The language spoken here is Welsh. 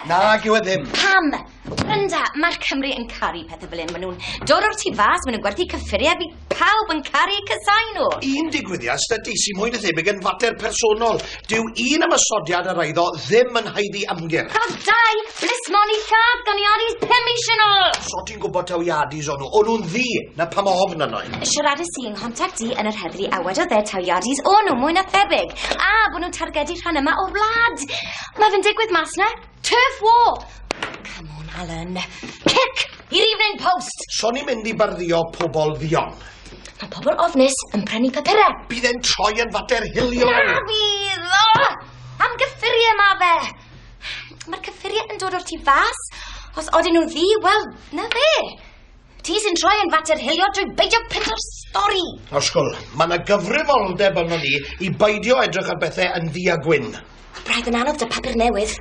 Nag yw e ddim. Pam? Brenda, mae'r Cymry yn caru pethau fel hyn. Maen nhw'n dod o'r tu fas, maen nhw'n gwerthu cyffuriau, fydd pawb yn caru casau nhw. Un digwyddiad stydi sy'n mwy na thebyg yn fater personol. Dyw un ymosodiad ar eiddo ddim yn haeddu ymgyrch. Cafodd dau blismon i lladd gan Iadis 5 mis yn ôl. So ti'n gwybod taw Iadis o'n nhw? O'n nhw'n ddu, na pam ofn yno i. Siaradais i yng nghontact i yn yr heddlu a wedodd e taw Iadis o'n nhw mwy na thebyg. A bod nhw'n targedu rhan yma o'r wlad. Mae fe'n digwydd mas na. Turf war. Come on, Alan. Cic i'r Evening Post. So ni'n mynd i barddio pobol ddion. Mae pobl ofnus yn prynu papurau. Bydd e'n troi yn fater hiliol. Na fydd! O! Am gyffuriau ma fe. Mae'r cyffuriau yn dod o'r tu fas. Os odyn nhw'n ddu, wel, na fe. Ti sy'n troi yn fater hiliol drwy beidio printo'r stori. Osgol, mae yna gyfrifoldeb arno ni i beidio edrych ar bethau yn ddu a gwyn. Braidd yn anodd 'da papur newydd.